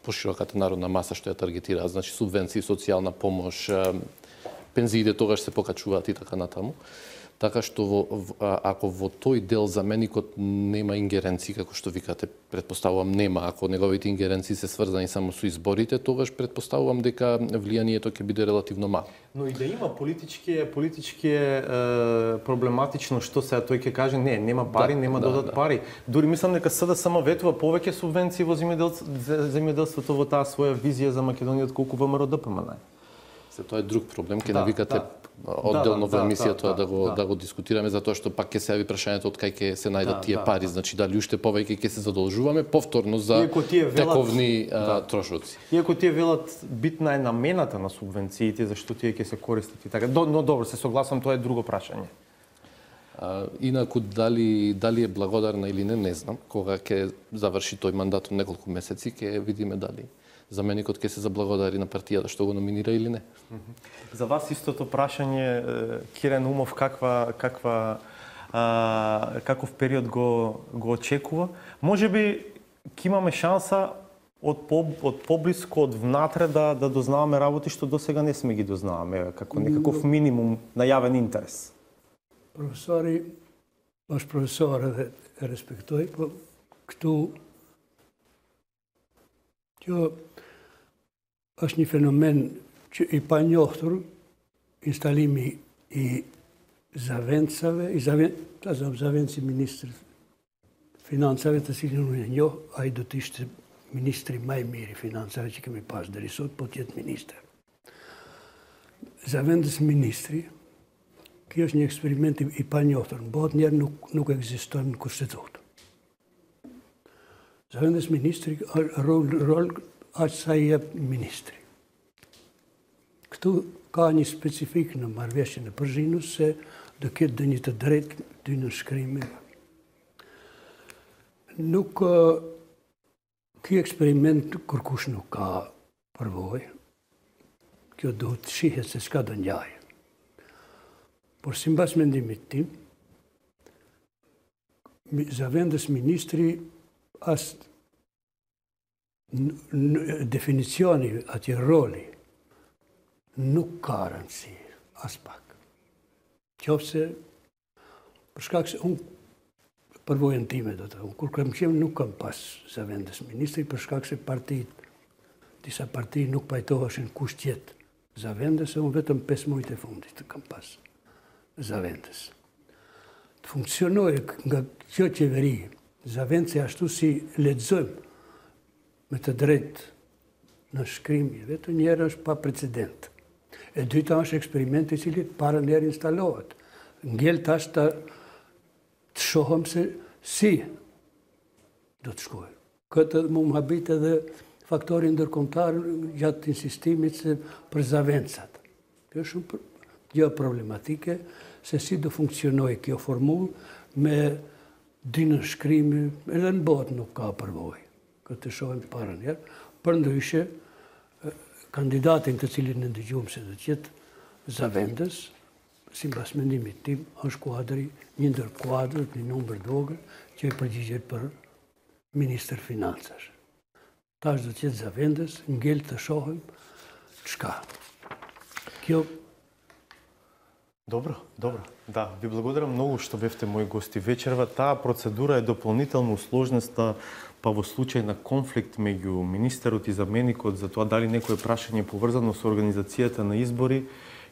пошироката народна маса што ја таргетираат, значи субвенции, социјална помош, а, пензиите тогаш се покачуваат и така натаму. Така што во, ако во тој дел заменикот нема ингеренции, како што викате, предпоставувам нема, ако неговите ингеренции се сврзани само со изборите, тогаш предпоставувам дека влијанието ќе биде релативно мало. Но и да има политички политички е, проблематично што се тој ќе каже не, нема пари, да, нема да додат да. пари. Дури мислам дека СДСМ ветува повеќе субвенции во земјоделството во таа своја визија за Македонија отколку ВМРО ДПМН. Се тоа е друг проблем, ќе да, навикате да. одделно да, во емисијата да, да, да, го да. да го дискутираме, затоа што пак ќе се јави прашањето од кај ќе се најдат да, тие да, пари, да. Значи дали уште повеќе ќе се задолжуваме повторно за велат, тековни да. трошоци. Иако тие велат битна е намената на субвенциите, зашто тие ќе се користат и така. Но добро, се согласам, тоа е друго прашање. А, инаку дали дали е благодарна или не, не знам. Кога ќе заврши тој мандат од неколку месеци, ќе видиме дали заменикот ќе се заблагодари на партијата што го номинира или не. За вас истото прашање, Кирен Умов, каква каква а, каков период го го очекува? Можеби ќе имаме шанса од по, од поблиско, од внатре да да дознаваме работи што досега не сме ги дознаваме, како некаков минимум на јавен интерес. Професори, баш професора респектој, кто Kjo është një fenomen që i pa njohtur, instalimi i zaventsave, i zaven, zaventsi ministrit financave të cilin unë e njoh, ai do të ishte ministri më i mirë i financave që kemi pas deri sot, po të jetë ministër. Zavendës ministri, kjo është një eksperiment i pa njohtur, në botë njerë nuk, nuk ekziston në kushtetutë. Zavendës ministri, rol, rol aq sa i jep ministri. Këtu ka një specifik në marrëveshjen e Përzhinës se do ketë dhe një të drejtë dy në shkrimi. Nuk, ky eksperiment kërkush nuk ka përvojë. Kjo duhet të shihet se çka do njajë. Por sipas mendimit tim, Zavendës ministri as definicioni atje roli nuk ka rëndësi as pak. Qofse për shkak se unë përvojën time do të, kur kam qenë nuk kam pas Zavendës ministri për shkak se partitë, disa parti nuk pajtoheshin kush tjetë Zavendës, e unë vetëm pesë muajt e fundit të kam pas Zavendës. Të funksionoj nga kjo qeveri Zavendësi ashtu si lexojmë me të drejtë në shkrimi, vetë njerë është pa precedent. E dyta është eksperimenti i cili para njerë instalohet. Ngell tash të, të shohëm se si do të shkojë. Këtë më më habit edhe faktori ndërkombëtar gjatë insistimit se për Zavendësat. Kjo është shumë gjë problematike se si do funksionojë kjo formullë me dy në shkrimi, edhe në botë nuk ka përvojë. Këtë të shohim para njerë, për ndryshe, kandidatin të cilin në ndëgjumë se do të jetë Zavendës, sipas mendimit tim, është kuadri, një ndër kuadrët, një numër vogël, që e përgjigjet për Ministër Financash. Tash do të jetë Zavendës, ngel të shohim çka. Kjo Добро, добро. Да, ви благодарам многу што бевте мои гости вечерва. Таа процедура е дополнително усложнеста, па во случај на конфликт меѓу министерот и заменикот за тоа дали некое прашање поврзано со организацијата на избори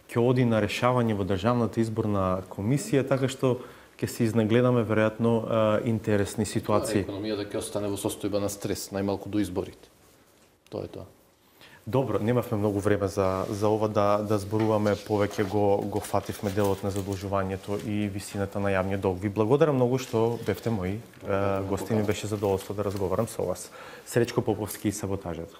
ќе оди на решавање во Државната изборна комисија, така што ќе се изнагледаме веројатно интересни ситуации. Економијата ќе остане во состојба на стрес, најмалку до изборите. Тоа е тоа. Добро, немавме многу време за, за ова да, да зборуваме, повеќе го, го фативме делот на задолжувањето и висината на јавниот долг. Ви благодарам многу што бевте мои гости, ми беше задоволство да разговарам со вас. Сречко Поповски и саботажата.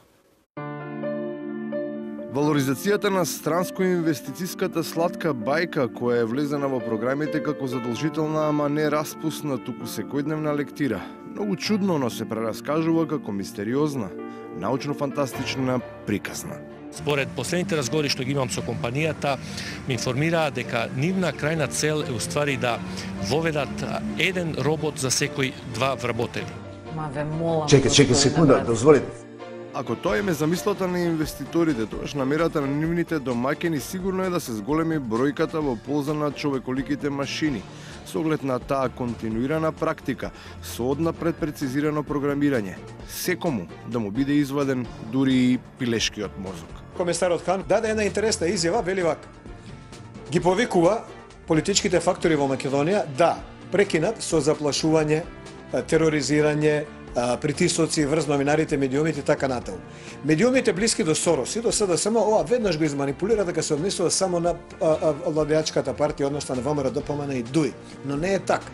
Валоризацијата на странско-инвестициската сладка бајка, која е влезена во програмите како задолжителна, ама не распусна, туку секојдневна лектира. Многу чудно, но се прераскажува како мистериозна, научно-фантастична, приказна. Според последните разговори што ги имам со компанијата, ми информираа дека нивна крајна цел е уствари да воведат еден робот за секој два вработени. Чекај, чекај секунда, дозволите. Ако тоа им е замислата на инвеститорите, тогаш намерата на нивните домаќини сигурно е да се зголеми бројката во полза на човеколиките машини, со оглед на таа континуирана практика, со одна предпрецизирано програмирање, секому да му биде изваден дури и пилешкиот мозок. Комесарот Хан даде една интересна изјава, вели вака: ги повикува политичките фактори во Македонија да прекинат со заплашување, тероризирање, притисоци врз новинарите, медиумите и така натаму. Медиумите блиски до Сорос и до СДСМ ова веднаш го изманипулира дека се однесува само на владеачката партија, односно на ВМРО, ДПМН и ДУИ, но не е така.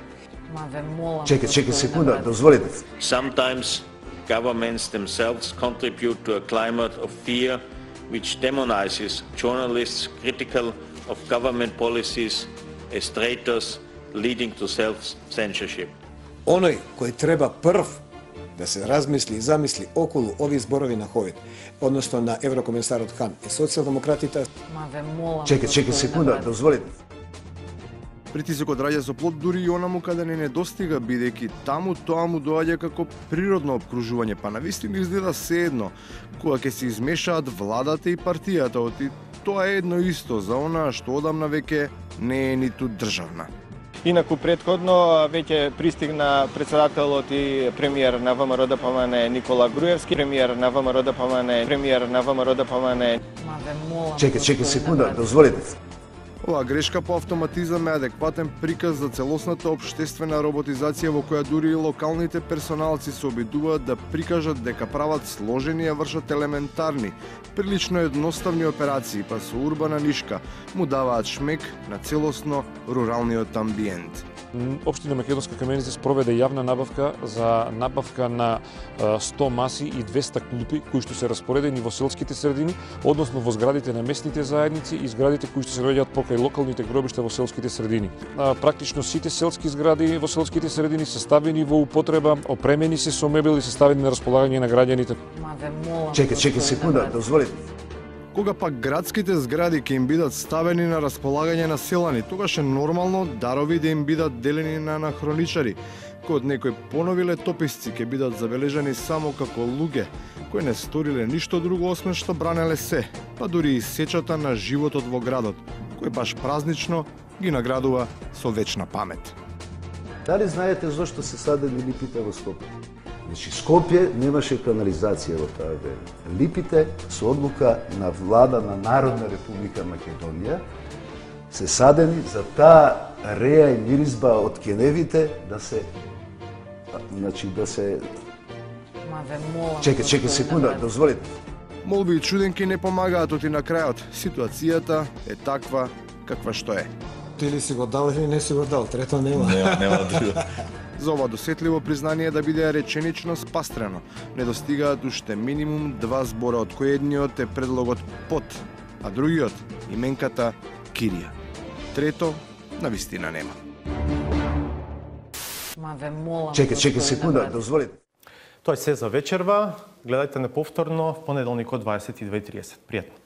Чекај, чекај секунда, дозволите. Sometimes governments themselves contribute to a climate of fear which demonizes journalists critical of government policies as traitors leading to self-censorship. Оној кој треба прв да се размисли и замисли околу овие зборови на Ковид, односно на еврокомесарот Хан и социјалдемократите. Чекај, чекај секунда, дозволите. Притисокот раѓа со плод дури и онаму каде не недостига, бидејќи таму тоа му доаѓа како природно обкружување, па навистина изгледа седно, кога ќе се измешаат владата и партијата, оти тоа е едно исто за онаа што одамна веќе не е ниту државна. Инаку претходно веќе пристигна председателот и премиер на ВМРО ДПМН Никола Груевски, премиер на ВМРО ДПМН, премиер на ВМРО ДПМН. Чекај, чекај секунда, дозволите. Оваа грешка по автоматизам е адекватен приказ за целосната општествена роботизација во која дури и локалните персоналци се обидуваат да прикажат дека прават сложени и вршат елементарни, прилично едноставни операции, па со урбана нишка му даваат шмек на целосно руралниот амбиент. Општина Македонска Каменица спроведе јавна набавка за набавка на сто маси и двесте клупи кои што се распоредени во селските средини, односно во зградите на местните заедници и зградите кои што се наоѓаат покрај локалните гробишта во селските средини. Практично сите селски згради во селските средини се ставени во употреба, опремени се со мебел и се ставени на располагање на граѓаните. Чекај, чекај секунда, дозволите. Кога пак градските згради ќе им бидат ставени на располагање на селани, тогаш е нормално дарови да им бидат делени на анахроничари, кои од некои понови летописци ќе бидат забележани само како луѓе, кои не сториле ништо друго освен што бранеле се, па дури и сечата на животот во градот, кој баш празнично ги наградува со вечна памет. Дали знаете зошто се садени липите во Скопје? Значи, Скопје немаше канализација во таа време. Липите со одлука на влада на Народна република Македонија се садени за таа реја и миризба од кеневите да се значи да се Чекај, чекај секунда, дозволите. Молби и чуденки не помагаат, оти на крајот ситуацијата е таква каква што е. Или си го дал или не си го дал, трето нема. Нема, нема друго. За ова досетливо признание да биде реченично спастрено, недостигаат уште минимум два збора, од кои едниот е предлогот под, а другиот именката Кирија. Трето, навистина нема. Чекај, чекај секунда, дозволите. Тоа е се за вечерва. Гледајте неповторно в понеделник од дваесет и две и тридесет. Пријатно.